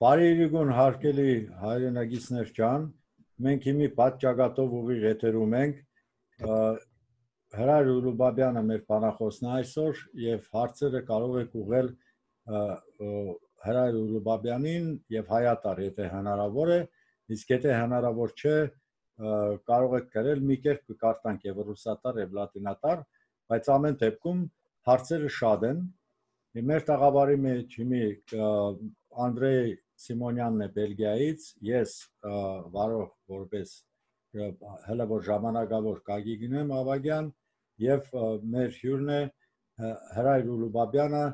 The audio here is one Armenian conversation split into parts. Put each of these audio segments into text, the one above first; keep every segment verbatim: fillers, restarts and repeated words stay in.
Բարերիգուն հարկելի հայրենագիցներ ջան, մենք հիմի պատճագատով ուղիղ եթերում ենք, Հրայր Ուրուբաբյանը մեր բանախոսն է այսօր և հարցերը կարող եք ուղղել Հրայր Ուրուբաբյանին և Հայատար, եթե հնարավոր է, իսկ եթե հնարավոր չէ, կարող եք գրել մի կերպ կկարտանք և ռուսատար և լատինատար, բայց ամեն դեպքում հարցերը շատ են։ Մեր տաղավարի մեջ հիմի Անդրեյ Սիմոնյանն է Բելգիայից, ես վարող որպես հələ որ ժամանակավոր Գագիկնեմ Ավագյան և մեր հյուրն է Հրայր Ուրուբաբյանը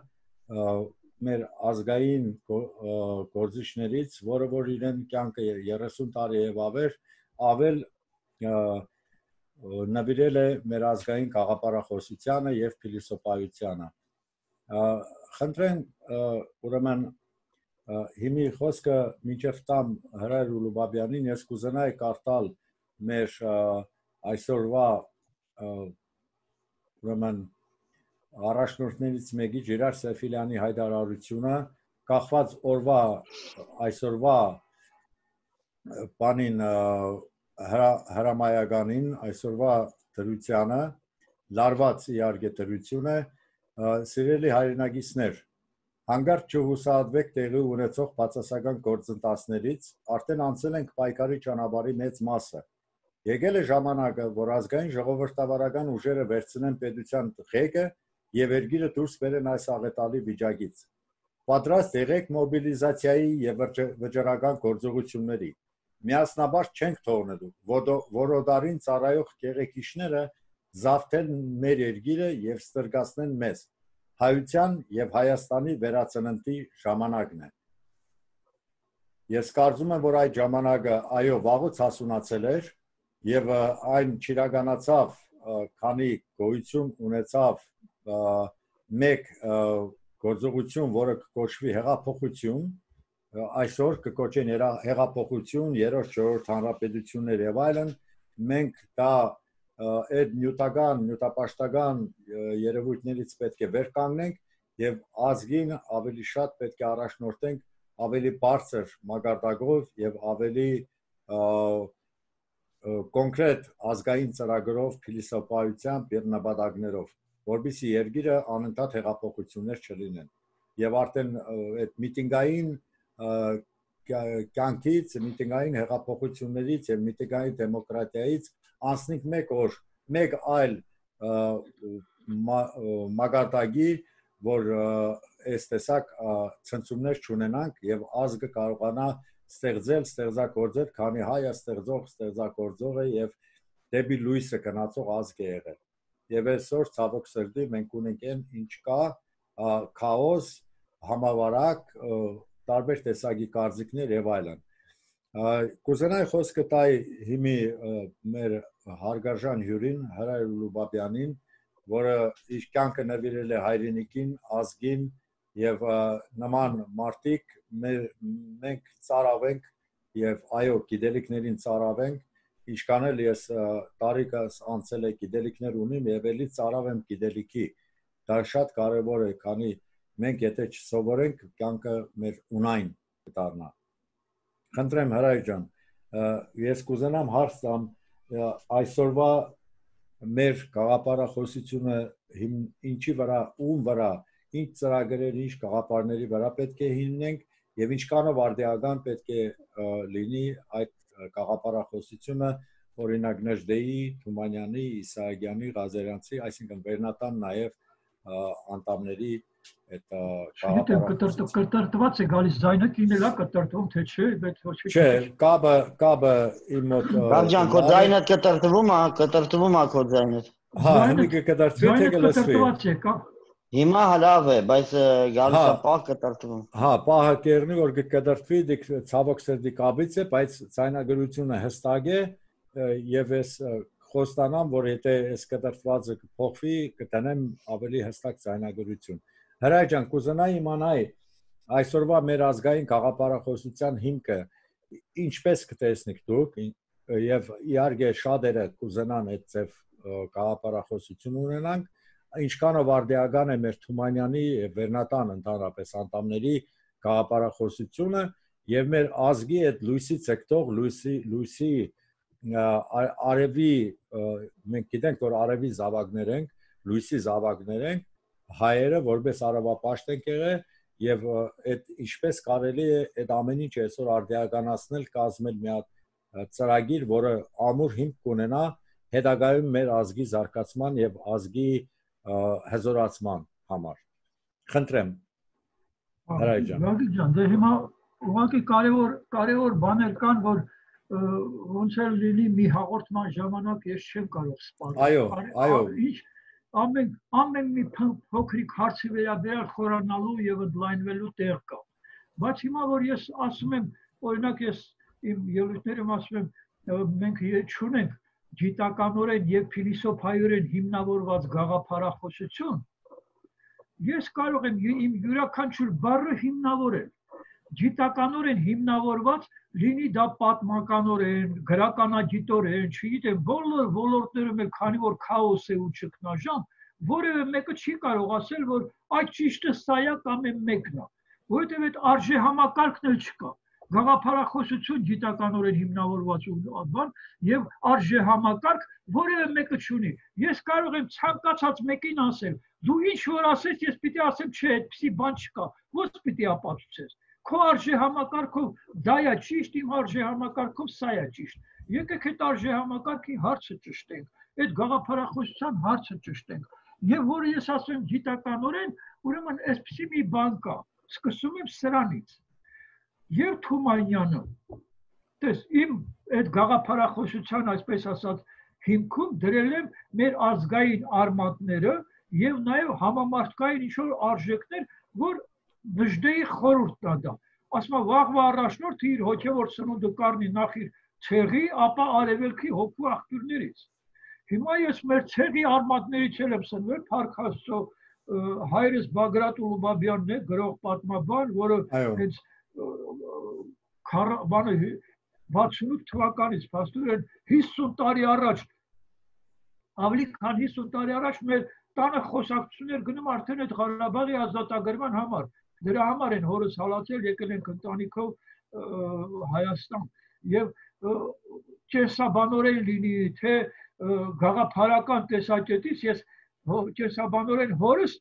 մեր ազգային գործիչներից, որը որ իրեն կյանքը երեսուն տարի և ավեր ավել նվիրել է մեր ազգային գաղափարախոսությանը և փիլիսոփայությանը։ Խնդրենք ուրեմն հիմի խոսքը մինչև տամ Հրայր Ուրուբաբյանին, ես կուզենայի կարդալ մեր այսօրվա ուրեմն առաջնորդներից մեկի Ժիրայր Սեֆիլյանի հայտարարությունը, կախված օրվա այսօրվա բանին հրամայականին, այսօրվա դրությանը, լարված իհարկե դրություն է, սիրելի հայրենագիցներ, հանկարծ չհուսահատվեք տեղի ունեցող բացասական գործընթացներից, արդեն անցել ենք պայքարի ճանապարհի մեծ մասը։ Եկել է ժամանակը, որ ազգային ժողովրդավարական ուժերը վերցնեն պետության ղեկը և երկիրը դուրս բերեն այս աղետալի վիճակից։ Պատրաստ եղեք մոբիլիզացիայի և վճռական գործողությունների։ Միասնաբար չենք թողնելու որոդարին ծառայող գեղեցիկները զավթեն մեր երկիրը և ստրկացնեն մեզ։ Հայության և Հայաստանի վերածննդի ժամանակն է։ Ես կարծում եմ, որ այդ ժամանակը այո վաղուց հասունացել էր և այն չիրականացավ, քանի գոյություն ունեցավ մեկ գործողություն, որը կոչվի հեղափոխություն, այսօր կկոչեն հեղափոխություն, երրորդ չորրորդ հանրապետություններ և այլն, մենք դա այդ նյութական, նյութապաշտական երևույթներից պետք է վեր կանգնենք և ազգին ավելի շատ պետք է առաջնորդենք ավելի բարձր մակարդակով և ավելի կոնկրետ ազգային ծրագրով, փիլիսոփայությամբ և նպատակներով, որպեսզի երկիրը անընդհատ հեղափոխություններ չլինեն։ Եվ արդեն այդ միտինգային կյանքից, միտինգային հեղափոխություններից և միտինգային դեմոկրատիայից անցնենք մեկ օր, մեկ այլ մակարդակի, որ այս տեսակ ցնցումներ չունենանք և ազգը կարողանա ստեղծել, ստեղծագործել, քանի հայը ստեղծող, ստեղծագործող է և դեպի լույսը գնացող ազգ է եղել։ Եվ այսօր ցավոք սրտի մենք ունենք այն ինչ կա, քաոս, համավարակ, տարբեր տեսակի կարծիքներ և այլն։ Կուզենայի խոսքը տալ հիմի մեր հարգարժան հյուրին Հրայր Ուրուբաբյանին, որը իր կյանքը նվիրել է հայրենիքին, ազգին և նման մարդիկ մենք ծարավենք և այո գիտելիքներին ծարավենք, ինչքան էլ ես տարիքս անցել է գիտելիքներ ունիմ և ելի ծարավեմ գիտելիքի, դա շատ կարևոր է, քանի մենք եթե չսովորենք, կյանքը մեր ունայն կդառնա։ Խնդրեմ Հրայր ջան, ես կուզենամ հարց տամ այսօրվա մեր գաղափարախոսությունը ինչի վրա, ում վրա, ինչ ծրագրերի, ինչ գաղափարների վրա պետք է հիմնենք և ինչքանով արդիական պետք է լինի այդ գաղափարախոսությունը, օրինակ Նժդեի, Թումանյանի, Իսահակյանի, Ղազարյանցի, այսինքն վերնատան նաև անդամների այդ գաղափարախոսությունը։ Կտրտված է գալիս ձայնը, կինել է կտրտվում, թե չէ, բայց ոչ մի չէ, կաբը, կաբը իմ մոտ Բաղջան, քո ձայնը կտրտվում է, կտրտվում է քո ձայնը։ Հա, հիմի կկտրտվի, թե կլսվի։ Հիմա լավ է, բայց գալիս է պահ կտրտվում։ Հա, պահը կերնի, որ կկտրտվի, դիք ցավոք սրտի կաբից է, բայց ձայնագրությունը հստակ է և ես խոստանամ, որ եթե այս կտրտվածը կփոխվի, կտանեմ ավելի հստակ ձայնագրություն։ Հրայր ջան, կուզենայի իմանալ այսօրվա մեր ազգային գաղափարախոսության հիմքը ինչպես կտեսնեք դուք և իհարկե շատերը կուզենան այդ ձև գաղափարախոսություն ունենանք, ինչքանով արդիական է մեր Թումանյանի և վերնատան ընդհանրապես անդամների գաղափարախոսությունը եւ մեր ազգի այդ լույսից եկող լույսի լույսի արևի մենք գիտենք որ արևի զավակներ ենք լույսի զավակներ ենք հայերը որպես արևապաշտ ենք եղել եւ այդ ինչպես կարելի է այդ ամեն ինչ այսօր արդիականացնել կազմել մի հատ ծրագիր որը ամուր հիմք կունենա հետագայում մեր ազգի զարգացման եւ ազգի հզորացման համար խնդրեմ Հրաչյան Գագիկ ջան դե հիմա ուղղակի կարևոր կարևոր բաներ կան որ ոնց էլ լինի մի հաղորդման ժամանակ ես չեմ կարող սպառել այո այո ինչ ամեն ամեն մի փոքրիկ հարցի վերաբերյալ խորանալու եւ ընդլայնվելու տեղ կա բայց հիմա որ ես ասում եմ օրինակ ես իմ ելույթներում ասում եմ մենք չունենք գիտականորեն եւ փիլիսոփայորեն հիմնավորված գաղափարախոսություն ես կարող եմ իմ յուրաքանչյուր բառը հիմնավորել գիտականորեն հիմնավորված լինի դա պատմականորեն, գրականագիտորեն, չգիտեմ, բոլոր ոլորտներում էլ քանի որ քաոս է ու ճգնաժամ, որևէ մեկը չի կարող ասել, որ այդ ճիշտը սա է կամ մեկն է, որովհետև այդ արժեհամակարգն էլ չկա։ Գաղափարախոսություն գիտականորեն հիմնավորված բան եւ արժեհամակարգ որևէ մեկը չունի։ Ես կարող եմ ցանկացած մեկին ասել, դու ինչ որ ասես, ես պիտի ասեմ, չէ, այդպիսի բան չկա։ Ո՞նց պիտի ապացուցես։ Քո արժեհամակարգով դա է ճիշտ, իմ արժեհամակարգով սա է ճիշտ։ Եկեք այդ արժեհամակարգի հարցը ճշտենք, այդ գաղափարախոսության հարցը ճշտենք։ Եվ որը ես ասում եմ գիտականորեն, ուրեմն այսպիսի մի բան կա։ Սկսում եմ սրանից։ Եվ Թումանյանը, տես իմ այդ գաղափարախոսության, այսպես ասած, հիմքում դրել եմ մեր ազգային արմատները եւ նաեւ համամարտկային ինչ-որ արժեքներ, որ Նժդեի խորհուրդն է դա։ Ասում եմ վաղվա առաջնորդը իր հոգևոր սնունդը կառնի նախ իր ցեղի, ապա արևելքի հոգու աղբյուրներից։ Հիմա ես մեր ցեղի արմատներից եմ սնվել, Փառք Աստծո, հայրս Բագրատ Ուլուբաբյանն է, գրող պատմաբան, որը հենց բանը վաթսունութ թվականից փաստորեն հիսուն տարի առաջ ավելի քան հիսուն տարի առաջ մեր տանը խոսակցություններ գնում արդեն այդ Ղարաբաղի ազատագրման համար։ Դրա համար են հորս հալածել, եկել ենք ընտանիքով Հայաստան եւ կեսաբանորեն լինի, թե գաղափարական տեսակետից ես կեսաբանորեն հորս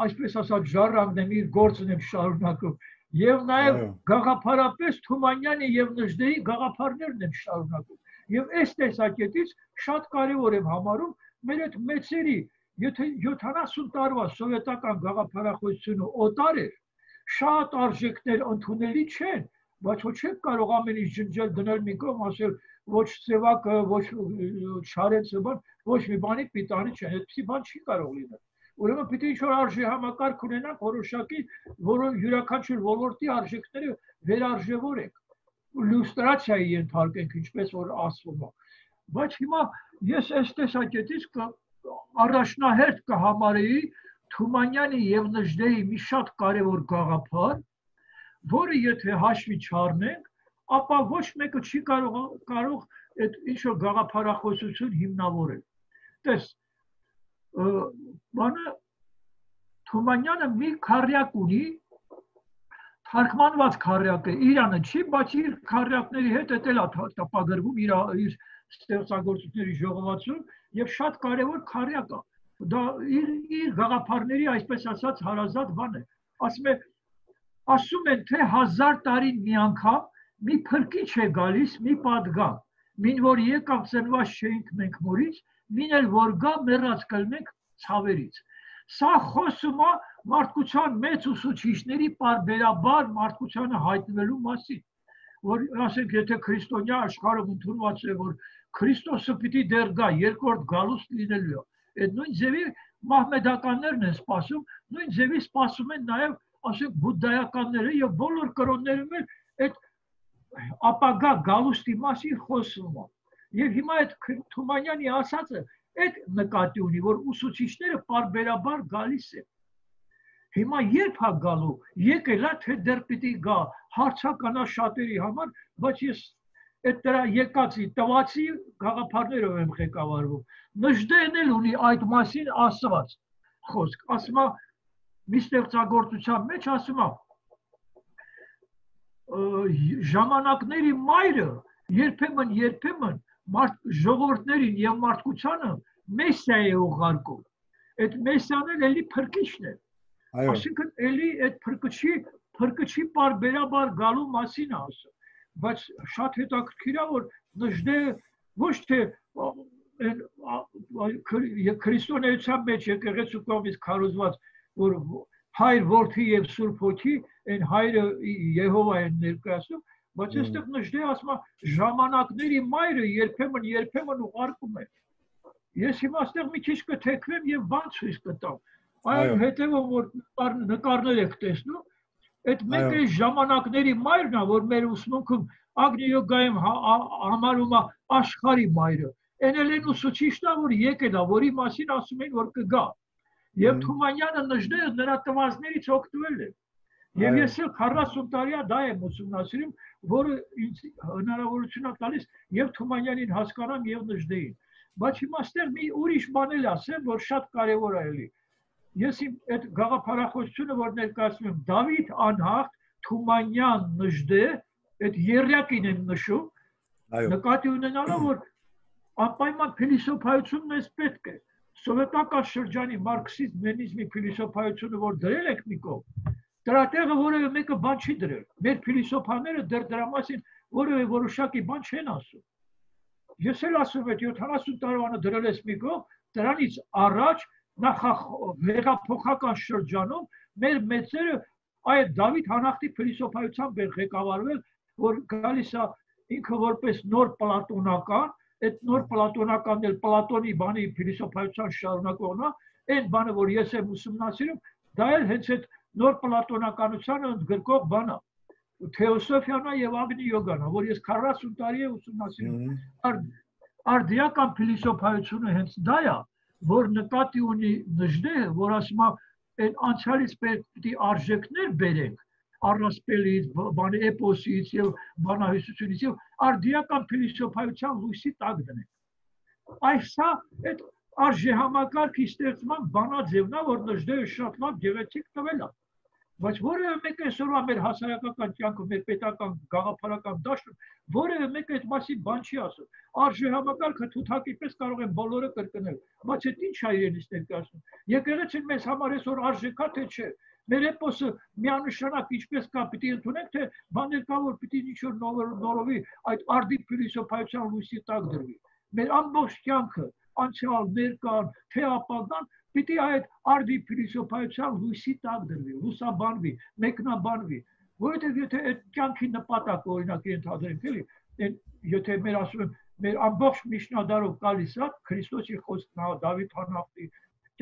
այսպես ասած ժառանգն եմ, իր գործն եմ շարունակում եւ նաեւ գաղափարապես Թումանյանի եւ Նժդեի գաղափարներն եմ շարունակում եւ այս տեսակետից շատ կարեւոր եմ համարում մեր այդ մեծերի Եթե յոթանասուն տարվա սովետական գաղափարախոսությունը օտար էր, շատ արժեքներ ընդունելի չեն, բայց ոչ չեք կարող ամեն ինչ ջնջել դնել մի կողմ, ասել ոչ ծևակը, ոչ շարեցը բան, ոչ մի բանի պիտանի չեն, այդպիսի բան չի կարող լինել։ Ուրեմն պիտի ինչ-որ արժեհամակարգ ունենանք որոշակի, որը յուրաքանչյուր ոլորտի արժեքները վերարժևորենք, լյուստրացիայի ենթարկենք, ինչպես որ ասվում է։ Բայց հիմա ես այս տեսակետից առաջնահերթ կհամարեի Թումանյանի եւ Նժդեի մի շատ կարևոր գաղափար, որը եթե հաշվի չառնենք, ապա ոչ մեկը չի կարող կարող այդ ինչ-որ գաղափարախոսություն հիմնավորել։ Տես, բանը Թումանյանը մի քառյակ ունի, թարգմանված քառյակ է, Իրանը չի, բայց իր քառյակների հետ էլ է տպագրվում իր իր ստեղծագործությունների ժողովածուն եւ շատ կարեւոր քառյակ է։ Դա իր իր գաղափարների այսպես ասած հարազատ բան է։ Ասում է ասում են թե հազար տարին մի անգամ մի փրկիչ է գալիս մի պատգամ, մին որ եկավ ծնված չէինք մենք մորից, մին էլ որ գա մեռած կլնենք ցավերից։ Սա խոսում է մարդկության մեծ ուսուցիչների պարբերաբար մարդկությանը հայտնվելու մասին, որ ասենք եթե քրիստոնյա աշխարհը ընդունված է, որ Քրիստոսը պիտի դեռ գա, երկրորդ գալուստ լինելու է։ Այդ նույն ձևի մահմեդականներն են սպասում, նույն ձևի սպասում են նաև, ասենք, բուդդայականները եւ բոլոր կրոններում էլ այդ ապագա գալուստի մասին խոսում է։ Եվ հիմա այդ Թումանյանի ասածը այդ նկատի ունի, որ ուսուցիչները պարբերաբար գալիս են։ Հիմա երբ է գալու, եկել է թե դեռ պիտի գա, հարցականա շատերի համար, բայց ես այդ դրա եկածի տվացի գաղափարներով եմ ղեկավարվում։ Նժդեն էլ ունի այդ մասին ասված խոսք, ասում է մի ստեղծագործության մեջ ասում է ժամանակների մայրը երբեմն երբեմն ժողովուրդներին եւ մարդկությանը մեսիա է ուղարկում։ Այդ մեսիան էլի փրկիչն է։ Այսինքն էլի այդ փրկչի փրկչի բարբերաբար գալու մասին է ասում։ Բայց շատ հետաքրքիր է, որ նժդե ոչ թե քրիստոնեության մեջ եկեղեցու կողմից քարոզված, որ հայր, որդի եւ սուրբ հոգի, այն հայրը Եհովա են ներկայացնում, բայց այստեղ նժդե ասում է ժամանակների մայրը երբեմն երբեմն ուղարկում է։ Ես հիմա այստեղ մի քիչ կթեքվեմ եւ բան ցույց կտամ։ Այն հետեւում որ նկարներ եք տեսնում, այդ մեկը ժամանակների մայրն է, որ մեր ուսմունքում Ագնի յոգայում համարում է աշխարհի մայրը։ Այն էլ են ուսուցիչն է, որ եկել է, որի մասին ասում են, որ կգա։ Եվ Թումանյանը նժդեը նրա տվածներից օգտվել է։ Եվ ես էլ քառասուն տարի դա եմ ուսումնասիրում, որը ինձ հնարավորություն է տալիս եւ Թումանյանին հասկանամ եւ նժդեին։ Բայց հիմա այստեղ մի ուրիշ բան էլ ասեմ, որ շատ կարեւոր է էլի։ Ես իմ այդ գաղափարախոսությունը, որ ներկայացնում եմ, Դավիթ անհաղթ, Թումանյան նժդե, այդ երրակին եմ նշում, նկատի ունենալով, որ անպայման փիլիսոփայությունն էս պետք է։ Սովետական շրջանի մարքսիզմ, լենինիզմի փիլիսոփայությունը, որ դրել եք մի կողմ, դրա տեղը որևէ մեկը բան չի դրել։ Մեր փիլիսոփաները դեռ դրա մասին որևէ որոշակի բան չեն ասում։ Ես էլ ասում եմ, յոթանասուն տարվանը դրել ես մի կողմ, դրանից առաջ հեղափոխական շրջանում մեր մեծերը այդ Դավիթ անհաղթի փիլիսոփայությամբ են ղեկավարվել, որ գալիս է ինքը որպես նոր պլատոնական, այդ նոր պլատոնականն էլ Պլատոնի բանի փիլիսոփայության շարունակողն է, այն բանը, որ ես եմ ուսումնասիրում, դա էլ հենց այդ նոր պլատոնականությանը ընդգրկող բան է։ Թեոսոֆիան է եւ Ագնի յոգան է, որ ես քառասուն տարի եմ ուսումնասիրում։ Արդիական փիլիսոփայությունը հենց դա է, որ նկատի ունի նժդեը, որ ասում է այն անցյալից պետք է արժեքներ բերենք, առասպելից, բանի էպոսից եւ բանահյուսությունից եւ արդիական փիլիսոփայության լույսի տակ դնենք։ Այսա այդ արժեհամակարգի ստեղծման բանաձևն է, որ նժդեը շատ լավ գեղեցիկ տվել է։ Բայց որևէ մեկը այսօրվա մեր հասարակական կյանքում, մեր պետական գաղափարական դաշտում, որևէ մեկը այդ մասին բան չի ասում։ Արժեհամակարգը թութակի պես կարող են բոլորը կրկնել, բայց այդ ինչ է իրենից ներկայացնում։ Եկեղեցին մեզ համար այսօր արժեքա թե չէ։ Մեր էպոսը միանշանակ ինչպես կա, պիտի ընդունենք, թե բաներ կա, որ պիտի ինչ-որ նորովի այդ արդի փիլիսոփայության լույսի տակ դրվի։ Մեր ամբողջ կյանքը, անցյալ, ներկան, թե ապագան պիտի այդ արդի փիլիսոփայության լույսի տակ դրվի, լուսաբանվի, մեկնաբանվի, որովհետև եթե այդ կյանքի նպատակը օրինակ ենթադրենք, էլի, եթե մեր ասում եմ, մեր ամբողջ միջնադարով գալիս է Քրիստոսի խոսքն է, Դավիթ անհաղթի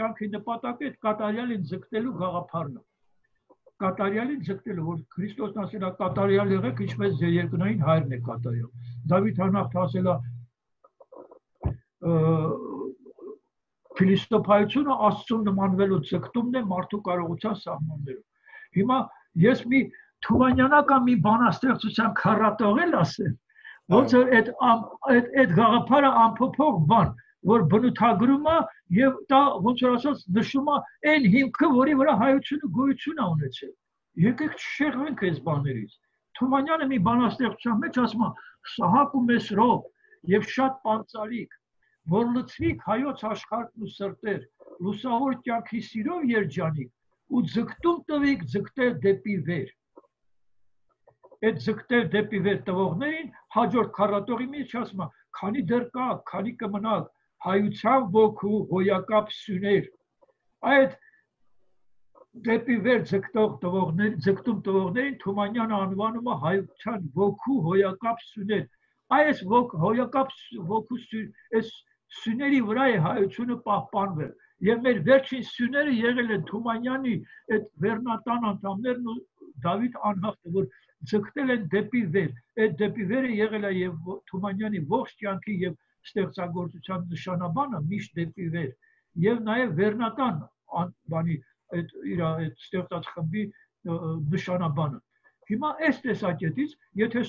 կյանքի նպատակը այդ կատարյալին ձգտելու գաղափարն է։ Կատարյալին ձգտելու, որ Քրիստոսն ասել է կատարյալ եղեք, ինչպես ձեր երկնային հայրն է կատարյալ։ Դավիթ անհաղթը ասել է փիլիսոփայությունը Աստծուն նմանվելու ձգտումն է մարդու կարողության սահմաններում։ Հիմա ես մի Թումանյանական մի բանաստեղծության քառատողել ասեմ, ոնց որ այդ այդ գաղափարը անփոփոխ բան, որ բնութագրում է եւ դա ոնց որ ասած նշում է այն հիմքը, որի վրա հայությունը գոյություն է ունեցել։ Եկեք չշեղվենք այս բաներից։ Թումանյանը մի բանաստեղծության մեջ ասում է. «Սահակում ես ռոբ եւ շատ պանծալիկ, որ լցվիկ հայոց աշխարհն ու սրտեր, լուսավոր կյանքի սիրով երջանիկ, ու ձգտում տվիկ ձգտել դեպի վեր»։ Այդ ձգտել դեպի վեր տվողներին հաջորդ քառատողի մեջ ասում է. «Քանի դեռ կա, քանի կմնաք հայության ոգու հոյակապ սյուներ»։ Այդ դեպի վեր ձգտող տվողներ, ձգտում տվողներին Թումանյանը անվանում է հայության ոգու հոյակապ սյուներ։ Այս հոյակապ ոգու այս սյուների վրա է հայությունը պահպանվել։ Եվ մեր վերջին սյուները եղել են Թումանյանի այդ վերնատան անդամներն ու Դավիթ անհաղթը, որ ձգտել են դեպի վեր։ Այդ դեպի վերը եղել է եւ Թումանյանի ողջ կյանքի եւ ստեղծագործության նշանաբանը միշտ դեպի վեր։ Եվ նաեւ վերնատան բանի այդ իր այդ ստեղծած խմբի նշանաբանը։ Հիմա այս տեսակետից, եթե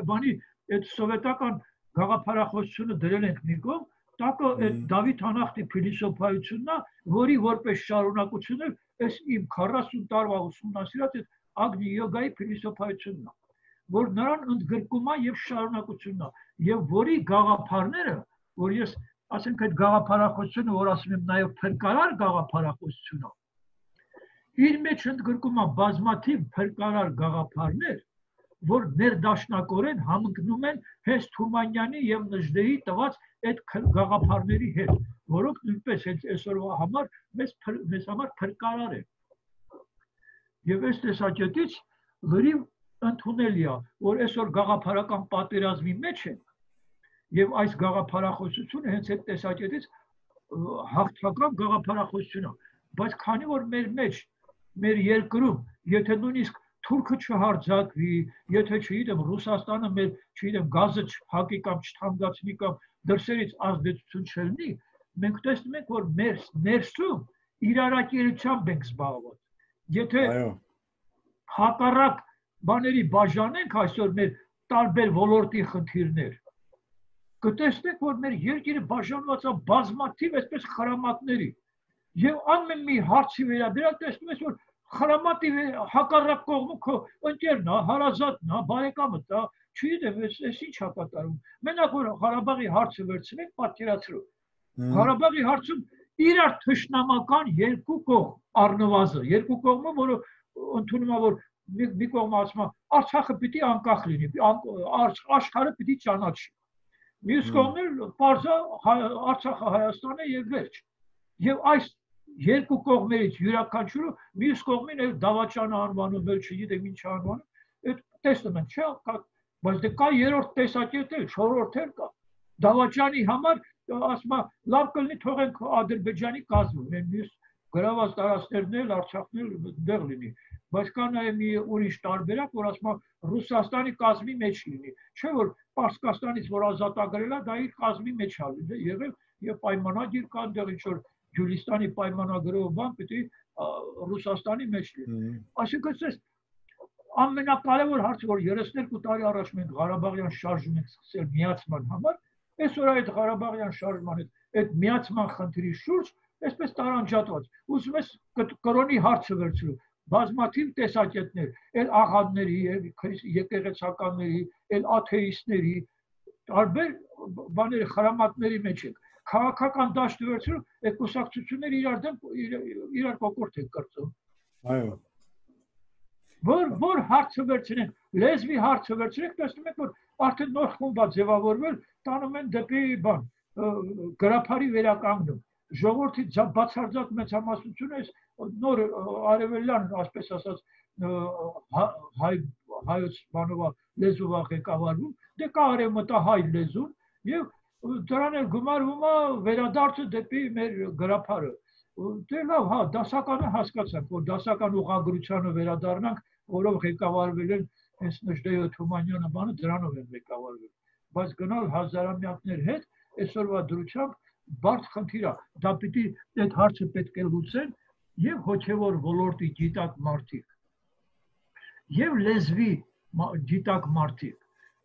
բանի այդ սովետական գաղափարախոսությունը դրել ենք մի կողմ, տակը այդ Դավիթ անհաղթի փիլիսոփայությունն է, որի որպես շարունակություն է այս իմ քառասուն տարվա ուսումնասիրած այդ Ագնի յոգայի փիլիսոփայությունն է, որ նրան ընդգրկում է եւ շարունակությունն է, եւ որի գաղափարները, որ ես ասենք այդ գաղափարախոսությունը, որ ասում եմ նաեւ փրկարար գաղափարախոսությունը, իր մեջ ընդգրկում է բազմաթիվ փրկարար գաղափարներ, որ ներդաշնակորեն համընկնում են հենց Թումանյանի եւ Նժդեի տված այդ գաղափարների հետ, որոնք նույնպես հենց այսօրվա համար մեզ մեզ համար փրկարար են։ Եվ այս տեսակետից լրիվ ընդունելի է, որ այսօր գաղափարական պատերազմի մեջ են, եւ այս գաղափարախոսությունը հենց այդ տեսակետից հաղթական գաղափարախոսություն է, բայց քանի որ մեր մեջ, մեր երկրում, եթե նույնիսկ Թուրքը չհարձակվի, եթե չգիտեմ Ռուսաստանը մեր, չգիտեմ, գազը չփակի կամ չթանկացնի կամ դրսերից ազդեցություն չլինի, մենք տեսնում ենք, որ մեր ներսում իրարակերությամբ ենք զբաղված։ Եթե հակառակ բաների բաժանենք այսօր մեր տարբեր ոլորտի խնդիրներ, կտեսնենք, որ մեր երկիրը բաժանված է բազմաթիվ այսպես խրամատների, եւ ամեն մի հարցի վերաբերյալ տեսնում ես, որ խրամատի հակառակ կողմը քո ընկերն է, հարազատն է, բարեկամդ է, չգիտեմ, այս ինչ է կատարում։ Մենակ որ Ղարաբաղի հարցը վերցնենք, պատկերացրու։ Ղարաբաղի հարցում իրար թշնամական երկու կողմ առնվազն, երկու կողմը, որը ընդունում է, որ մի կողմը ասում է, Արցախը պիտի անկախ լինի, աշխարհը պիտի ճանաչի։ Մյուս կողմը պարզ է, Արցախը Հայաստան է եւ վերջ։ Եվ այս երկու կողմերից յուրաքանչյուրը մյուս կողմին էլ դավաճան անվանում, էլ չգիտեմ ինչ անվանում, այդ տեսնում են, չէ՞, բայց դե կա երրորդ տեսակետ էլ, չորրորդ էլ կա։ Դավաճանի համար ասում է, լավ կլինի թողենք Ադրբեջանի կազմում, այն մյուս գրաված տարածքներն էլ, Արցախն էլ դեղ լինի, բայց կա նաև մի ուրիշ տարբերակ, որ ասում է Ռուսաստանի կազմի մեջ լինի, չէ՞ որ Պարսկաստանից որ ազատագրել է, դա իր կազմի մեջ է եղել եւ պայմանագիր կա այնտեղ ինչ որ Գյուլիստանի պայմանագրով բան պիտի Ռուսաստանի մեջ լինի։ Այսինքն այս ամենակարևոր հարցը, որ երեսներկու տարի առաջ մենք Ղարաբաղյան շարժում ենք սկսել միացման համար, այսօր այդ Ղարաբաղյան շարժման այդ միացման խնդրի շուրջ այսպես տարանջատված։ Ուզում ես կրոնի հարցը վերցրու, բազմաթիվ տեսակետներ, այլ աղանդների, եկեղեցականների, այլ աթեիստների, տարբեր բաների խրամատների մեջ ենք։ Քաղաքական դաշտը վերցրու, այդ կուսակցությունները իրար դեմ իրար կոկորտ են կրծում։ Այո։ Որ որ հարցը վերցնենք, լեզվի հարցը վերցնենք, տեսնում ենք, որ արդեն նոր խումբ է ձևավորվել, տանում են դեպի բան, գրափարի վերականգնում։ Ժողովրդի բացարձակ մեծամասնությունը այս նոր արևելյան, ասպես ասած, հայ հայոց բանովա լեզուվա ղեկավարում, դե կա արևմտահայ լեզուն եւ դրան էլ գումարվում է վերադարձը դեպի մեր գրափարը։ Դե լավ, հա, դասականը հասկացանք, որ դասական ուղղագրությանը վերադառնանք, որով ղեկավարվել են հենց Նժդեյ Թումանյանը բանը դրանով են ղեկավարվել։ Բայց գնալ հազարամյակներ հետ այսօրվա դրությամբ բարդ խնդիր է։ Դա պիտի այդ հարցը պետք է լուծեն եւ հոգեվոր ոլորտի գիտակ մարդիկ, եւ լեզվի գիտակ մարդիկ։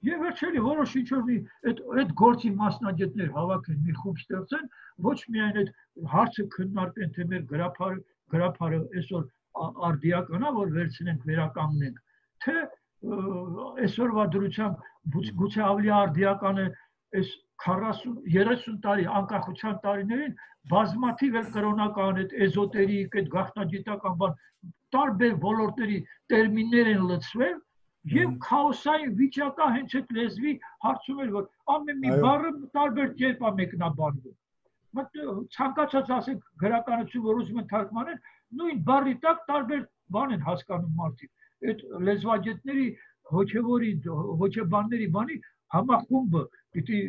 Եվ վերջերի որոշ ինչ-որ մի այդ գործի մասնագետներ հավաքեն, մի խումբ ստեղծեն, ոչ միայն այդ հարցը քննարկեն, թե մեր գրափարը գրափարը այսօր արդիականա, որ վերցնենք, վերականգնենք, թե այսօրվա դրությամբ գուցե ավելի արդիական է այս քառասուն երեսուն տարի անկախության տարիներին բազմաթիվ էլ կրոնական, այդ էզոտերիկ, այդ գաղտնագիտական բան, տարբեր ոլորտների տերմիններ են լցվել եւ քաոսային վիճակա հենց այդ լեզվի հարցում էր, որ ամեն մի բառը տարբեր կերպ է մեկնաբանվում։ Ցանկացած ասենք գրականություն, որ ուզում են թարգմանել, նույն բառի տակ տարբեր բան են հասկանում մարդիկ։ Այդ լեզվագետների, հոգեվորի, հոգեբանների բանի համախումբը պիտի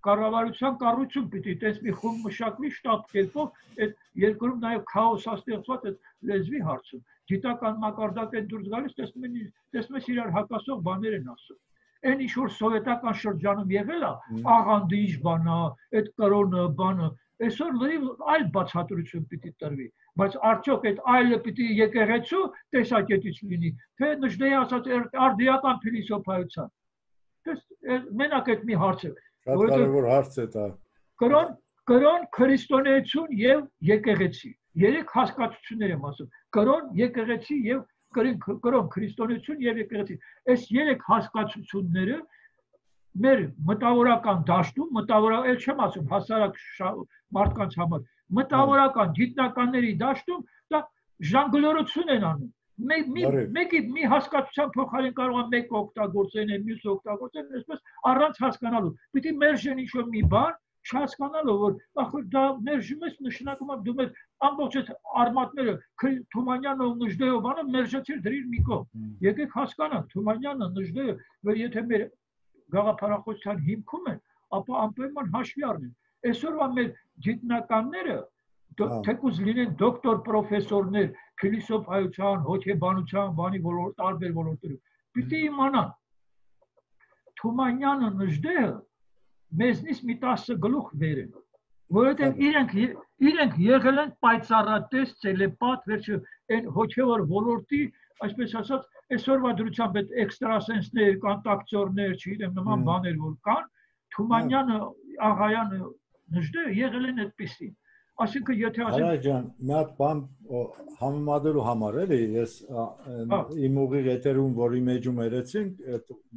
կառավարության կառույցում պիտի տես մի խումբ մշակվի շտապ կերպով այդ երկրում նաև քաոս ստեղծված այդ լեզվի հարցում։ Գիտական մակարդակ են դուրս գալիս, տեսնում են, տեսնում ես իրար հակասող բաներ են ասում։ Այն ինչ որ սովետական շրջանում եղել է, աղանդը ինչ բան է, այդ կրոնը, բանը, այսօր լրիվ այլ բացատրություն պիտի տրվի, բայց արդյոք այդ այլը պիտի եկեղեցու տեսակետից լինի, թե Նժդեի ասած արդիական փիլիսոփայության։ Դες մենակ այդ մի հարց է, Շատ կարևոր հարց է դա։ Կրոն, կրոն, քրիստոնեություն եւ եկեղեցի։ Երեք հասկացություններ եմ ասում. կրոն, եկեղեցի եւ կրոն քրիստոնեություն եւ եկեղեցի։ Այս երեք հասկացությունները մեր մտավորական դաշտում, մտավորական, էլ չեմ ասում հասարակ մարդկանց համար, մտավորական գիտնականների դաշտում դա ժանգլորություն են անում։ Մեկի մի հասկացության փոխարեն կարող է մեկ օգտագործեն, մյուս օգտագործեն, այսպես առանց հասկանալու։ Պիտի մերժեն ինչ-որ մի բան, չհասկանալով, որ ախր դա մերժում ես, նշանակում է դու մեր ամբողջ այդ արմատները Թումանյանը ու Նժդեհը բանը մերժեցիր դրիր մի կողմ։ Եկեք հասկանանք, Թումանյանը, Նժդեհը, որ եթե մեր գաղափարախոսության հիմքում են, ապա անպայման հաշվի առնեն։ Այսօրվա մեր գիտնականները թեկուզ լինեն դոկտոր պրոֆեսորներ, փիլիսոփայության, հոգեբանության, բանի ոլորտ, տարբեր ոլորտներում։ Պիտի իմանան Թումանյանը, Նժդեհը մեզնից մի տասը գլուխ վեր են, որովհետև իրենք իրենք եղել են պայծառատես, տելեպատ, վերջը այն հոգևոր ոլորտի, այսպես ասած, այսօրվա դրությամբ այդ էքստրասենսներ, կոնտակտորներ, չգիտեմ, նման բաներ որ կան, Թումանյանը, Աղայանը, Նժդեհը եղել են այդպիսին։ Այսինքն եթե ասեմ Արա ջան, մի հատ բան համեմատելու համար էլի, ես իմ ուղիղ եթերում, որի մեջում երեցինք,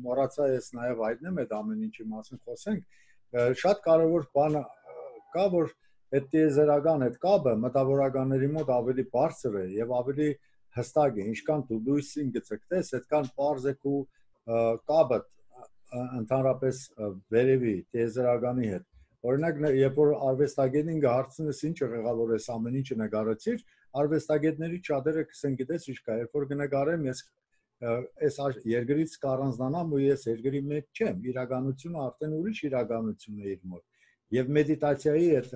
մոռացա ես նաև հայտնեմ այդ ամեն ինչի մասին խոսենք, շատ կարևոր բան կա, որ այդ տիեզերական այդ կապը մտավորականների մոտ ավելի բարձր է եւ ավելի հստակ է, ինչքան դու լույսին գցկտես, այդքան པարզ է ու կապը ընդհանրապես վերևի տիեզերականի հետ։ Օրինակ, երբ որ արվեստագետին գահարցնես ինչ եղավ, որ այս ամեն ինչը նկարեցիր, արվեստագետների շատերը կսեն գիտես ինչ կա, երբ որ կնկարեմ, ես այս երկրից կառանձնանամ ու ես երկրի մեջ չեմ, իրականությունը արդեն ուրիշ իրականություն է իր մոտ։ Եվ մեդիտացիայի այդ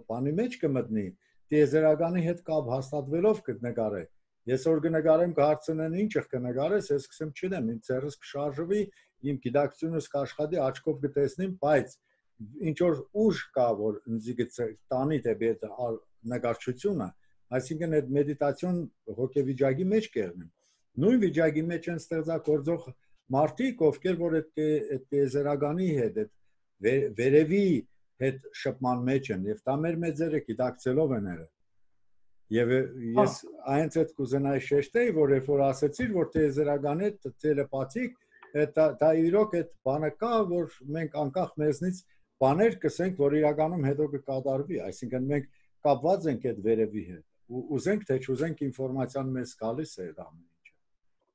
բանի մեջ կմտնի, տիեզերականի հետ կապ հաստատվելով կնկարե։ Ես որ կնկարեմ կհարցնեն ինչ կնկարես, ես կսեմ չնեմ, իմ ձեռս կշարժվի, իմ գիտակցությունս կաշխատի, աչքով կտեսնեմ, բայց ինչ որ ուժ կա, որ ինձ տանի դեպի այդ նկարչությունը, այսինքն այդ մեդիտացիոն հոգեվիճակի մեջ կերնեմ։ Նույն վիճակի մեջ են ստեղծագործող մարդիկ, ովքեր որ այդ տիեզերականի հետ, այդ վերևի հետ շփման մեջ են, եւ դա մեր մեծերը գիտակցելով են երը։ Եվ ես այնց այդ կուզենայի շեշտեի, որ երբ որ ասեցիր, որ տիեզերականի հետ տելեպաթիկ, դա իրոք այդ բանը կա, որ մենք անկախ մեզնից բաներ կսենք, որ իրականում հետո կկատարվի, այսինքն մենք կապված ենք այդ վերևի հետ, ուզենք թե չուզենք ինֆորմացիան մեզ գալիս է այդ ամեն ինչը։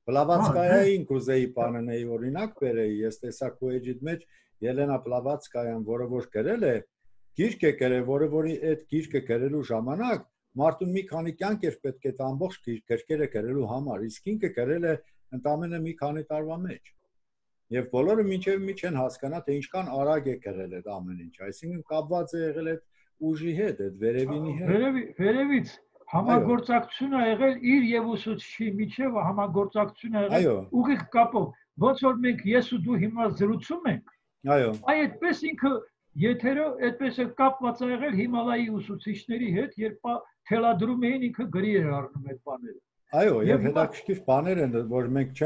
Բլավատսկայային կուզեի բանենեի օրինակ բերեի, ես տեսա քո էջիդ մեջ Ելենա Բլավատսկայան, որը որ գրել է, գիրք է գրել, որը որի այդ գիրքը գրելու ժամանակ մարդուն մի քանի կյանք էր պետք է ամբողջ գրքերը գրելու համար, իսկ ինքը գրել է ընդամենը մի քանի տարվա մեջ։ Եվ բոլորը մինչև մի չեն հասկանա, թե ինչքան արագ է գրել այդ ամեն ինչ, այսինքն կապված է եղել այդ ուժի հետ, այդ վերևինի հետ։ Վերևի, վերևից համագործակցություն ա եղել իր եւ ուսուցչի միջև համագործակցություն ա եղել ուղիղ կապով, ոնց որ մենք ես ու դու հիմա զրուցում ենք։ Այո։ Այ այդպես ինքը եթերը այդպես է կապված ա եղել Հիմալայի ուսուցիչների հետ, երբ թելադրում էին ինքը գրի էր առնում այդ բաները։ Այո, եւ հետաքրքիր բաներ են, որ մենք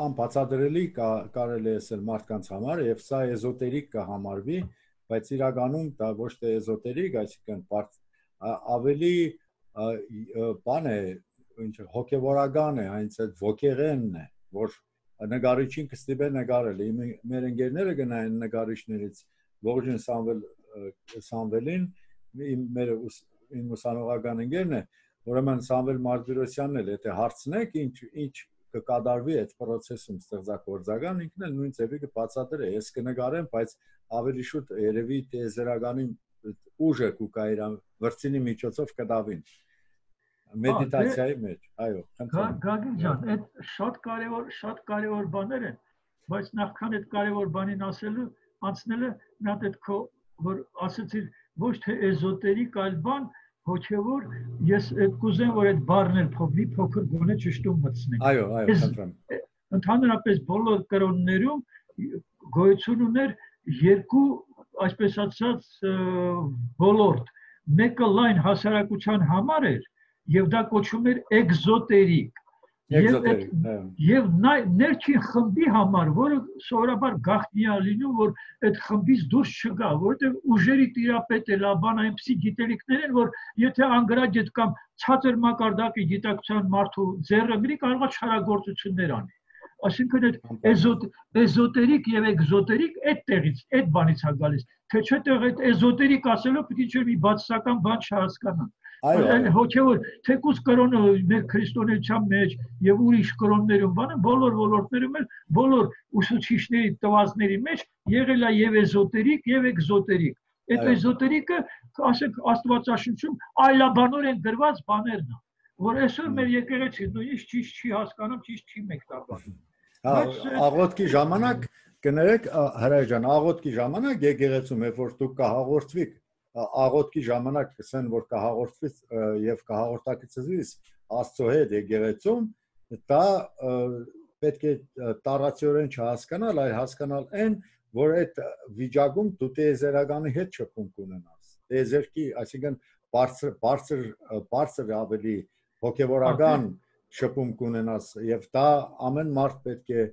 անբացատրելի կարելի է ասել մարդկանց համար, եւ սա էզոտերիկ կհամարվի, բայց իրականում դա ոչ թե էզոտերիկ, այսինքն ավելի բան է, ինչ հոգեվորական է, այնց այդ ոգեղենն է, որ նկարիչին կստիպե նկարել։ Մեր ընկերները գնային նկարիչներից ողջույն Սամվել Սամվելին, մեր իմ ուսանողական ընկերն է, ուրեմն Սամվել Մարտիրոսյանն էլ եթե հարցնեք ինչ ինչ կկատարվի այդ process-ում ստեղծագործական, ինքն էլ նույն ձևի կբացատրի, ես կնկարեմ, բայց ավելի շուտ երևի տիեզերականի ուժը կուկա իր վրձինի միջոցով կդավին մեդիտացիայի մեջ, այո, խնդրեմ։ Գագիկ ջան, այդ շատ կարևոր, շատ կարևոր բաներ են, բայց նախքան այդ կարևոր բանին ասելու, անցնելը նա այդ քո որ ասեցիր ոչ թե էզոտերիկ, այլ բան հոգևոր, ես այդ կուզեմ, որ այդ բառն էլ փոքրի փոքր գոնե ճշտում մտցնենք։ Այո, այո, խնդրեմ։ Ընդհանրապես բոլոր կրոններում գոյություն ուներ երկու, այսպես ասած, ոլորտ։ Մեկը լայն հասարակության համար էր, եւ դա կոչվում էր էկզոտերիկ։ Եվ ներքին խմբի համար, որը սովորաբար գաղտնի է լինում, որ այդ խմբից դուրս չգա, որովհետև ուժերի տիրապետ է լաբան այնպիսի գիտելիքներ են, որ եթե անգրագետ կամ ցածր մակարդակի գիտակցության մարդու ձեռը գրի, կարող է չարագործություններ անի։ Այսինքն այդ էզոտերիկ եւ էկզոտերիկ այդ տեղից, այդ բանից է գալիս, թե չէ տեղ այդ էզոտերիկ ասելով պիտի չէ մի բացասական բան չհասկանան։ Հոգևոր թեկուզ կրոնը մեր քրիստոնեության մեջ եւ ուրիշ կրոններում բանը բոլոր ոլորտներում էլ բոլոր ուսուցիչների տվածների մեջ եղել է եւ էզոտերիկ եւ էկզոտերիկ։ Այդ էզոտերիկը, ասենք, Աստվածաշնչում այլաբանորեն գրված բաներն են, որ այսօր մեր եկեղեցին նույնիսկ ճիշտ չի հասկանում, ճիշտ չի մեկնաբանում։ Աղոթքի ժամանակ կներեք հրայր ջան, աղոթքի ժամանակ եկեղեցում երբ որ դուք կհաղորդվիք, աղոթքի ժամանակ կսեն որ կհաղորդվից եւ կհաղորդակցվից Աստծո հետ եկեղեցում, դա պետք է տարածիորեն չհասկանալ, այլ հասկանալ այն, որ այդ վիճակում դու տեզերականի հետ շփում կունենաս։ Տեզերքի, այսինքն բարձր բարձր բարձր ավելի հոգեվորական շփում կունենաս եւ դա ամեն մարդ պետք է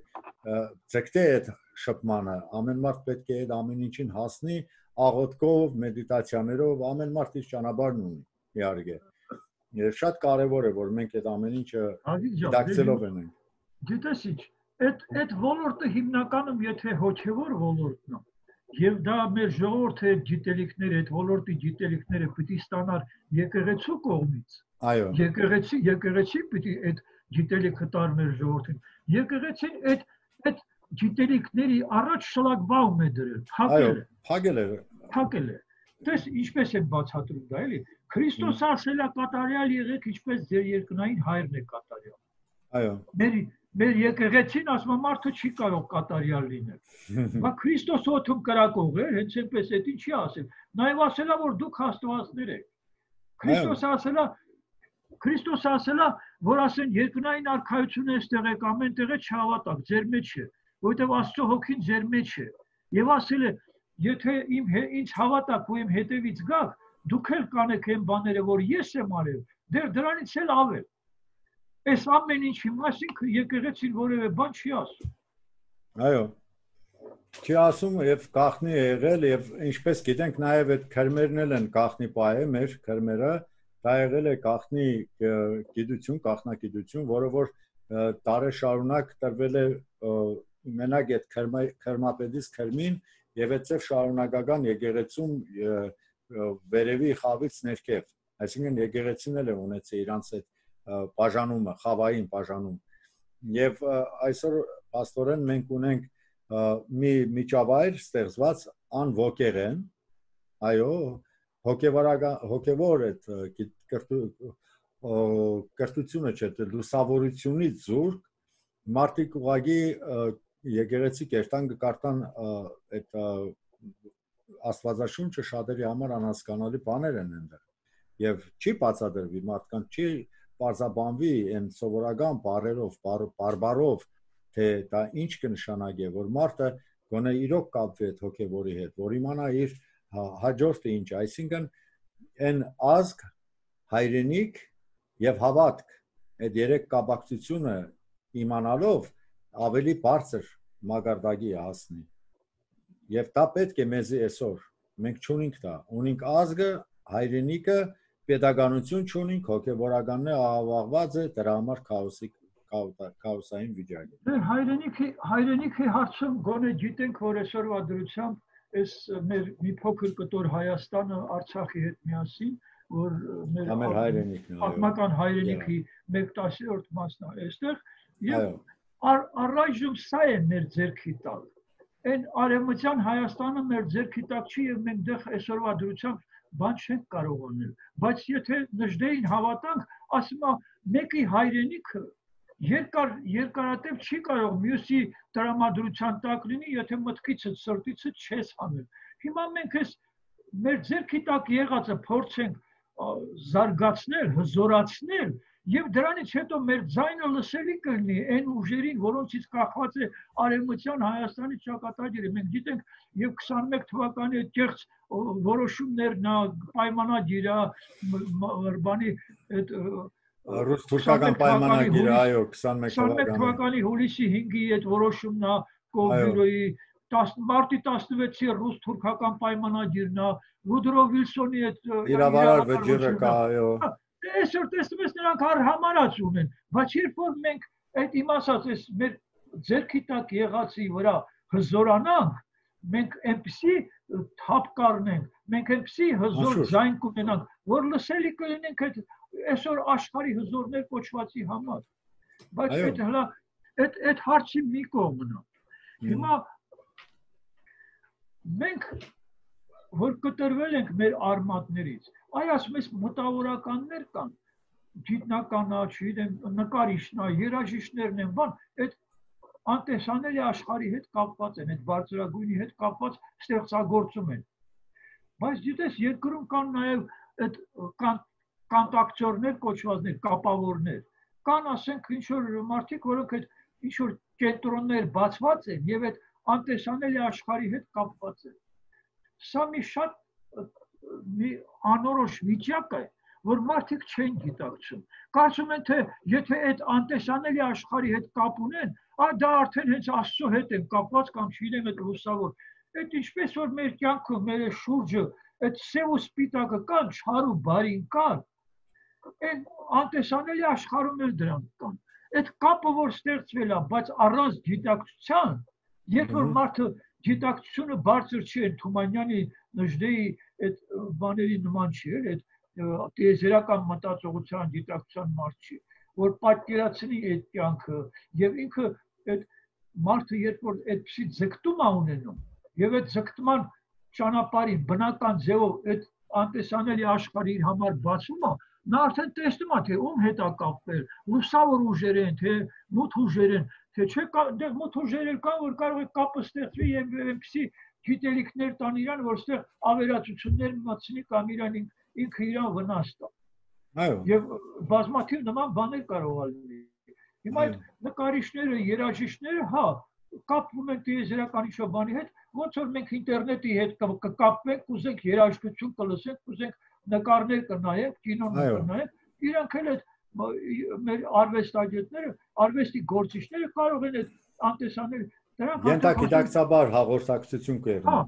ձգտի այդ շփմանը, ամեն մարդ պետք է այդ ամեն ինչին հասնի աղոթքով, մեդիտացիաներով, ամեն մարդ իր ճանապարհն ունի, իհարկե։ Եվ շատ կարևոր է որ մենք այդ ամեն ինչը դակցելով ենք։ Գիտես ինչ, այդ այդ ոլորտը հիմնականում եթե հոգևոր ոլորտն է, եւ դա մեր ժողովրդի գիտելիքները, այդ ոլորտի գիտելիքները պիտի ստանար եկեղեցու կողմից։ Այո։ Եկեղեցի, եկեղեցի պիտի այդ գիտելիքը տար մեր ժողովրդին։ Եկեղեցին այդ այդ գիտելիքների առաջ շլագբաում է դրել, փակել է։ Փակել է։ Փակել է։ Դες ինչպես է բացատրում դա, էլի։ Քրիստոս ասել է կատարյալ եղեք, ինչպես ձեր երկնային հայրն է կատարյալ։ Այո։ Մեր մեր եկեղեցին ասում է մարդը չի կարող կատարյալ լինել։ Բա Քրիստոս օթում կրակող է, հենց այնպես է, ինչի ասել։ Նաև ասել է որ դուք աստվածներ եք։ Քրիստոս ասել է Քրիստոս ասել է, որ ասեն երկնային արքայությունը այստեղ է, ամեն տեղ է չհավատաք, ձեր մեջ է, որովհետև Աստծո հոգին ձեր մեջ է։ Եվ ասել է, եթե իմ ինձ հավատաք ու իմ հետևից գաք, դուք էլ կանեք այն բաները, որ ես եմ արել, դեռ դրանից էլ ավել։ Այս ամեն ինչի մասին եկեղեցին որևէ բան չի ասում։ Այո։ Չի ասում եւ գախնի է եղել եւ ինչպես գիտենք նաեւ այդ քրմերն էլ են գախնի պահե մեր քրմերը, դա եղել է գախնի գիտություն, գախնագիտություն, որը որ տարի շարունակ տրվել է մենակ այդ քրմապետից քրմին եւ այդպես շարունակական եկեղեցում վերևի խավից ներքև, այսինքն եկեղեցին էլ է ունեցել իրանց այդ բաժանումը, խավային բաժանում։ Եվ այսօր աստորեն մենք ունենք մի միջավայր ստեղծված անոգեղեն, այո, հոգևորական հոգևոր այդ կրթությունը չէ, լուսավորությունից զուրկ մարդիկ ուղղակի եկեղեցի կերտան կկարտան այդ աստվածաշունչը շատերի համար անհասկանալի բաներ են այնտեղ եւ չի բացատրվի մարդկանց չի բարձաբանվի այն սովորական բառերով բարբարով թե դա ինչ կնշանակի որ մարդը գոնե իրոք կապվի այդ հոգևորի հետ որ իմանա իր հաջորդը ինչ այսինքն այն ազգ հայրենիք եւ հավատք այդ երեք կապակցությունը իմանալով ավելի բարձր մակարդակի հասնի եւ դա պետք է մեզի այսօր մենք չունենք դա ունենք ազգը հայրենիքը պետականություն չունենք հոգեվորականն է աղավաղված է դրա համար քաոսի քաոսային վիճակ է դե հայրենիքի հայրենիքի հարցում գոնե գիտենք որ այսօրվա դրությամբ այս մեր մի փոքր կտոր Հայաստանը Արցախի հետ միասին որ մեր հայրենիքն է պատմական հայրենիքի մեկ տասնյորդ մասն է այստեղ եւ առայժմ սա է մեր ձեռքի տակ այն արևմտյան Հայաստանը մեր ձեռքի տակ չի եւ մենք դեռ այսօրվա դրությամբ բան չենք կարող անել բայց եթե նժդեին հավատանք ասում է մեկի հայրենիքը երկար երկարատև չի կարող մյուսի տրամադրության տակ լինի եթե մտքիցդ սրտիցդ չես անել հիմա մենք այս մեր ձեռքի տակ եղածը փորձենք զարգացնել հզորացնել եւ դրանից հետո մեր ձայնը լսելի կլինի այն ուժերին որոնցից կախված է արևմտյան Հայաստանի ճակատագիրը մենք գիտենք եւ քսանմեկ թվականի այդ կեղծ որոշումներն պայմանագիրը բանի այդ Ռուս-թուրքական պայմանագիրը, այո, քսանմեկ թվականի հուլիսի հինգի այդ որոշումն է Կոլբյուրոյի, մարտի տասնվեցի ռուս-թուրքական պայմանագիրն է, Վուդրո Վիլսոնի այդ իրավարար վճիռը կա, այո։ Այսօր տեսնում ես նրանք հարհամարած ունեն, բայց երբ որ մենք այդ իմ ասած այս մեր ձեռքի տակ եղածի վրա հզորանանք, մենք այնպիսի թափ կառնենք, մենք այնպիսի հզոր ձայն կունենանք, որ լսելի կլինենք այդ այսօր աշխարհի հզորներ կոչվածի համար։ Բայց այդ հլա այդ այդ հարցի մի կողմն է։ Հիմա մենք որ կտրվել ենք մեր արմատներից, այ ասում ես մտավորականներ կան, գիտնականա, չգիտեմ, նկարիչնա, երաժիշտներն են, բան, այդ անտեսանելի աշխարհի հետ կապված են, այդ բարձրագույնի հետ կապված ստեղծագործում են։ Բայց գիտես, երկրում կան նաև այդ կանտակտորներ կոչվածներ, կապավորներ, կան ասենք ինչ-որ մարդիկ, որոնք այդ ինչ-որ կենտրոններ բացված են և այդ անտեսանելի աշխարհի հետ կապված են։ Սա մի շատ մի անորոշ վիճակ է, որ մարդիկ չեն գիտակցում։ Կարծում են, թե եթե այդ անտեսանելի աշխարհի հետ կապ ունեն, դա արդեն հենց Աստծո հետ են կապված կամ չգիտեմ այդ լուսավոր։ Այդ ինչպես որ մեր կյանքում, մեր շուրջը, այդ սև ու սպիտակը կան, չար ու բարին կան, այն անտեսանելի աշխարհում էլ դրանք կան։ Այդ կապը որ ստեղծվել է, բայց առանց գիտակցության, երբ որ մարդը գիտակցությունը բարձր չի, այդ Թումանյանի Նժդեի այդ բաների նման չի, այդ տիեզերական մտածողության գիտակցության մարդ չի, որ պատկերացնի այդ կյանքը եւ ինքը այդ մարդը երբ որ այդպիսի ձգտում է ունենում եւ այդ ձգտման ճանապարհին բնական ձևով այդ անտեսանելի աշխարհի իր համար բացում է, նա արդեն տեսնում է թե ում հետ է կապվել, լուսավոր ուժեր են, թե մութ ուժեր են, թե չէ դե մութ ուժեր կան, որ կարող է կապը ստեղծվի եւ այնպիսի գիտելիքներ տան իրան, որ ստեղ ավերածություններ մտցնի կամ իրան ինքը իրան վնաս տա։ Այո։ Եվ բազմաթիվ նման բաներ կարող է լինել։ Հիմա այդ նկարիչները, երաժիշտները, հա, կապվում են տիեզերական ինչ-որ բանի հետ, ոնց որ մենք ինտերնետի հետ կկապվենք, կուզենք երաժշտություն կլսենք, կուզենք նկարներ կնայենք, կինոներ կնայենք, իրանք էլ այդ մեր արվեստագետները, արվեստի գործիչները կարող են այդ անտեսանել, դրանք ենթագիտակցաբար հաղորդակցություն կերնեն։ Հա,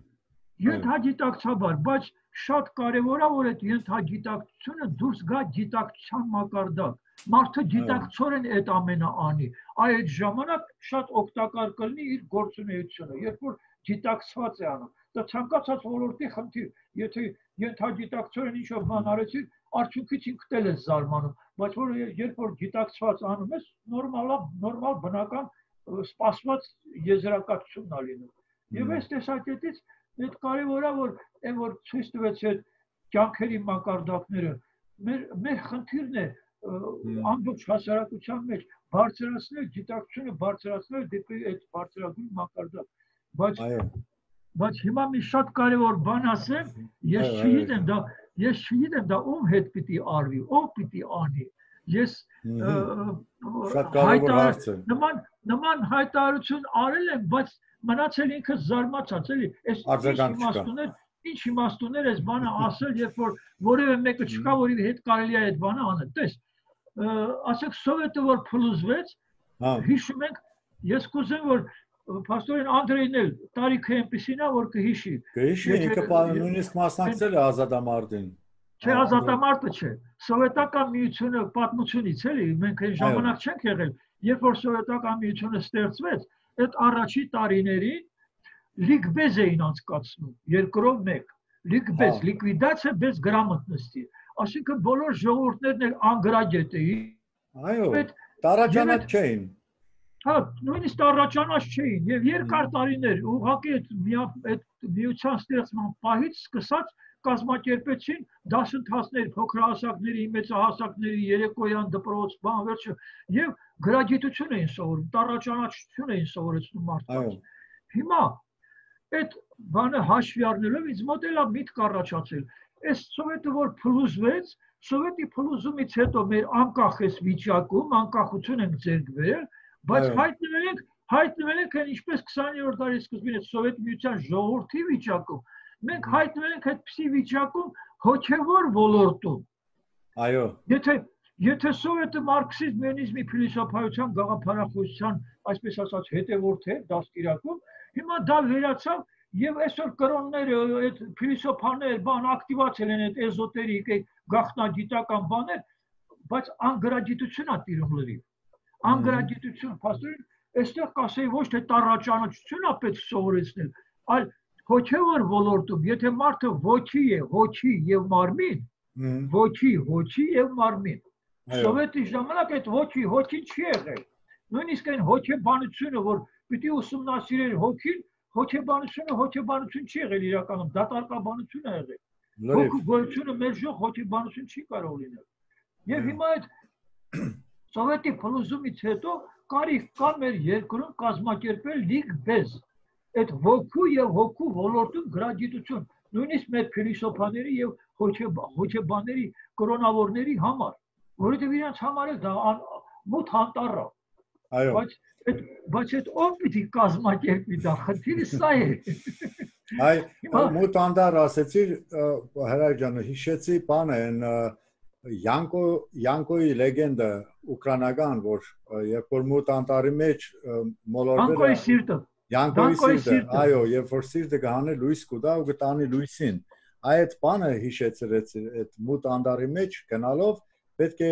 ենթագիտակցաբար, բայց շատ կարևոր է, որ այդ ենթագիտակցությունը դուրս գա գիտակցության մակարդակ։ Մարդը գիտակցորեն այդ ամենը անի, այդ ժամանակ շատ օգտակար կլինի իր գործունեությունը, երբ որ գիտակցված է անում։ Դա ցանկացած ոլորտի խնդիր, եթե ենթագիտակցորեն ինչ-որ բան արեցիր, արդյունքից ինքդ էլ ես զարմանում, բայց որ երբ որ գիտակցված անում ես, նորմալ նորմալ բնական սպասված եզրակացությունն է լինում։ Եվ այս տեսակետից այդ կարևոր է, որ այն որ ցույց տվեց այդ կյանքերի մակարդակները, մեր մեր խնդիրն է ամբողջ հասարակության մեջ բարձրացնել գիտակցությունը, բարձրացնել դեպի այդ բարձրագույն մակարդակ։ Բայց բայց հիմա մի շատ կարևոր բան ասեմ, ես չգիտեմ դա, ես չգիտեմ դա ում հետ պիտի արվի, ով պիտի անի։ Ես շատ կարևոր հարց է։ Նման նման հայտարարություն արել եմ, բայց մնացել ինքը զարմացած, էլի, այս իմաստուներ, ինչ իմաստուներ այս բանը ասել, երբ որ որևէ մեկը չկա, որի հետ կարելի է այդ բանը անել։ Տես, ասեք Սովետը որ փլուզվեց, հիշում ենք, ես կուզեմ որ Պաստորեն Անդրեյն էլ տարիքը այնպեսին է, որ կհիշի։ Կհիշի, ինքը նույնիսկ մասնակցել է ազատամարտին։ Չէ, ազատամարտը չէ։ Սովետական միությունը պատմությունից էլի, մենք այն ժամանակ չենք եղել, երբ որ սովետական միությունը ստեղծվեց, այդ առաջի տարիներին լիկբեզ էին անցկացնում, երկրով մեկ, լիկբեզ, լիկվիդացիա без грамотности, այսինքն բոլոր ժողովուրդներն էլ անգրագետ էին։ Այո, տարաճանաչ չէին։ Հա, նույնիսկ տարաճանաչ չէին եւ երկար տարիներ ուղղակի այդ միության ստեղծման պահից սկսած կազմակերպեցին դասընթացներ փոքրահասակների, մեծահասակների, երեկոյան դպրոց, բան վերջը եւ գրագիտություն էին սովորում, տարաճանաչություն էին սովորեցնում մարդկանց։ Հիմա այդ բանը հաշվի առնելով ինձ մոտ էլ է միտք առաջացել։ Այս սովետը որ փլուզվեց, սովետի փլուզումից հետո մեր անկախ էս վիճակում, անկախություն ենք ձեռք բերել, բայց հայտնվել ենք, հայտնվել ենք ինչպես քսաներորդ դարի սկզբին այդ Սովետ միության ժողովրդի վիճակում, մենք հայտնվել ենք այդպիսի վիճակում հոգևոր ոլորտում։ Այո։ Եթե Եթե սովետը մարքսիզմ լենինիզմի փիլիսոփայության գաղափարախոսության, այսպես ասած, հետևորդ է դաստիարակում, հիմա դա վերացավ եւ այսօր կրոնները, այդ փիլիսոփաներ, բան ակտիվացել են այդ էզոտերիկ, գաղտնագիտական բաներ, բայց անգրագիտությունն է տիրում լրիվ։ Անգրագիտություն, փաստորեն, այստեղ կասեի ոչ թե տառաճանությունն է պետք սովորեցնել, այլ հոգևոր ոլորտում, եթե մարդը ոգի է, հոգի եւ մարմին, ոգի, հոգի եւ մարմին։ Սովետի ժամանակ այդ հոգի, հոգին չի եղել։ Նույնիսկ այն հոգեբանությունը, որ պիտի ուսումնասիրել հոգին, հոգեբանությունը հոգեբանություն չի եղել իրականում, դատարկաբանություն է եղել։ Հոգու գոյությունը մեր ժող հոգեբանություն չի կարող լինել։ Եվ հիմա այդ սովետի փլուզումից հետո կարիք կա մեր երկրում կազմակերպել լիգբեզ, այդ ոգու եւ հոգու ոլորտում գրագիտություն, նույնիսկ մեր փիլիսոփաների եւ հոգեբանների, կրոնավորների համար, որովհետեւ իրենց համար էլ դա մութ անտառ է։ Այո։ Բայց այդ բայց այդ ով պիտի կազմակերպի դա, խնդիրը սա է։ Այ մութ անտառ ասեցիր, Հրայր ջան, հիշեցի բանը այն Յանկո Յանկոյի լեգենդը ուկրաինական, որ երբ որ մութ անտառի մեջ մոլորվել Յանկոյի սիրտը Յանկոյի սիրտը, այո, երբ որ սիրտը կհանի լույս կուտա ու կտանի լույսին, այդ բանը հիշեցրեց այդ մութ անտառի մեջ գնալով պետք է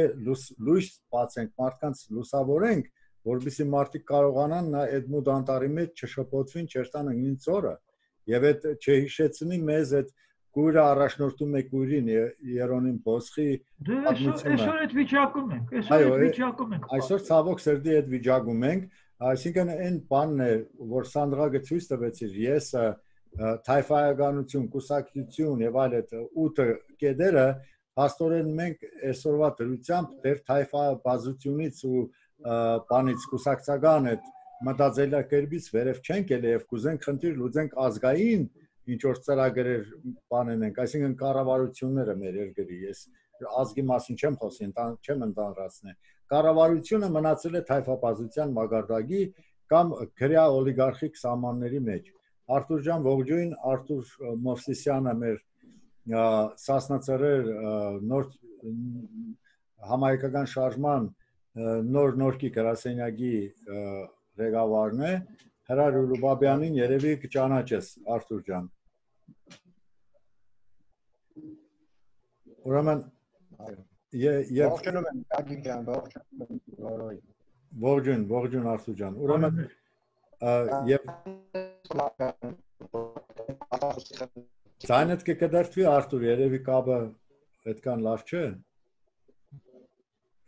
լույս բացենք, մարդկանց լուսավորենք, որովհետեւ մարդիկ կարողանան այդ մութ անտառի մեջ չշփոթվին, չերտան ինձ օրը, եւ այդ չհիշեցնի մեզ այդ Գույրը առաջնորդում է Գույրին Երոնիմ Բոսխի պատմությունը։ Այսօր այդ վիճակում ենք, այսօր այդ վիճակում ենք։ Այսօր ցավոք սրտի այդ վիճակում ենք, այսինքն այն բանն է, որ Սանդրագը ցույց տվեցիր, ես թայֆայականություն, կուսակցություն եւ այլ այդ ութ կետերը, փաստորեն մենք այսօրվա դրությամբ դեր թայֆաբազությունից ու բանից կուսակցական այդ մտածելակերպից վերև չենք ելել եւ կուզենք խնդիր լուծենք ազգային ինչ որ ծրագրեր բանեն ենք, այսինքն կառավարությունները մեր երկրի, ես ազգի մասին չեմ խոսի, չեմ ընդհանրացնի։ Կառավարությունը մնացել է թայֆաբազության մագարտակի կամ քրեա օլիգարխիկ սահմանների մեջ։ Արթուր ջան, ողջույն, Արթուր Մովսիսյանը մեր Սասնա-Ծռեր նոր համայնքական շարժման նոր նորքի գրասենյակի ղեկավարն է, Հրայր Ուրուբաբյանին երևի կճանաչես, Արթուր ջան։ Ուրեմն եւ ողջունում եմ Գագիկ ջան, ողջունում եմ։ Ողջույն, ողջույն Արթուր ջան։ Ուրեմն եւ Ցայնդ կկդրտվի Արթուր, երևի կապը այդքան լավ չէ։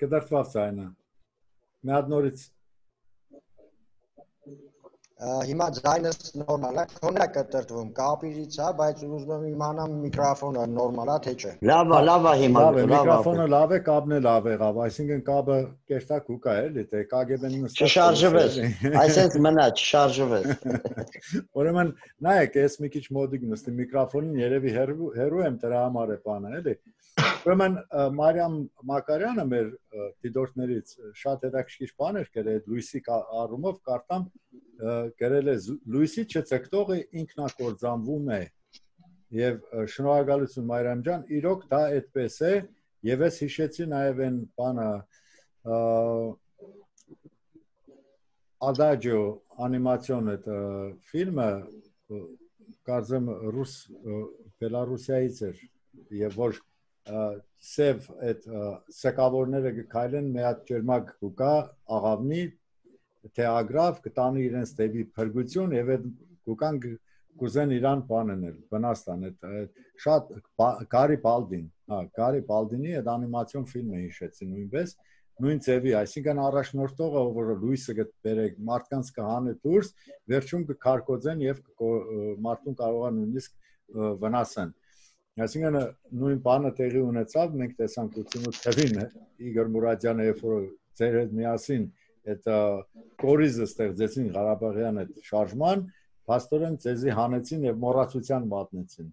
Կդրտվավ ցայնը։ Մի հատ նորից Հիմա ձայնս նորմալ է, քոնը կտրտվում, կապիրից է, բայց ուզում եմ իմանամ միկրոֆոնը նորմալ է, թե չէ։ Լավ է, լավ է հիմա։ Լավ է, միկրոֆոնը լավ է, կապն է լավ եղավ, այսինքն կապը կերտակ ու կա էլի, թե կագեբեն նստած։ Չշարժվես, այսպես մնա, չշարժվես։ Ուրեմն նայեք, ես մի քիչ մոդիկ նստի միկրոֆոնին, երևի հերու եմ դրա համար է բանը, էլի։ Ուրեմն Մարիամ Մակարյանը մեր դիտորդներից շատ հետաքրքիր բաներ գրել լույսի առումով կարտամ գրել է լույսի չծկտողը ինքնակործանվում է եւ շնորհակալություն Մարիամ ջան իրոք դա այդպես է եւ ես հիշեցի նաեւ այն բանը Adagio անիմացիոն այդ ֆիլմը կարծեմ ռուս Բելարուսիայից էր եւ որ սև այդ սակավորները գքայլեն մի հատ ջերմակ կուկա աղավնի թեագրավ կտանի իրենց դեպի փրկություն եւ այդ կուկան կուզեն իրան բաննել վնաստան այդ շատ Գարի Բալդին հա Գարի Բալդինի այդ անիմացիոն ֆիլմը հիշեցի նույնպես նույն ձևի այսինքն առաջնորդողը որ լույսը կբերեք մարդկանց կհանը դուրս վերջում կքարկոծեն եւ մարդուն կարողա նույնիսկ վնասեն այսինքն նույն բանը տեղի ունեցավ մենք տեսանք ութսունութ թվին Իգոր Մուրադյանը երբ որ ձեր հետ միասին այդ կորիզը ստեղծեցին Ղարաբաղյան այդ շարժման փաստորեն ցեզի հանեցին եւ մոռացության մատնեցին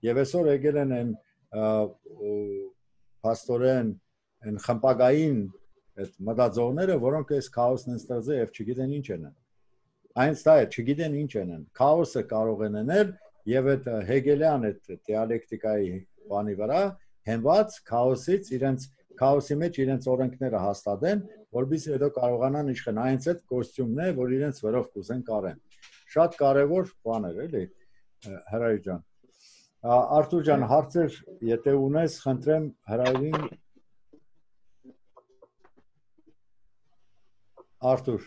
եւ այսօր եկել են այն փաստորեն այն խմպագային այդ մտածողները որոնք այս քաոսն են ստեղծել եւ չգիտեն ինչ են այնց դա է չգիտեն ինչ են քաոսը կարող են անել եւ այդ հեգելյան այդ դիալեկտիկայի բանի վրա հենված քաոսից իրենց քաոսի մեջ իրենց օրենքները հաստատեն, որովհետեւ հետո կարողանան իշխեն այնց այդ կոստյումն է, որ իրենց վրով կուզեն կարեն։ Շատ կարևոր բան էր, էլի, Հրայր ջան։ Արթուր ջան, հարցեր, եթե ունես, խնդրեմ Հրայրին Arthur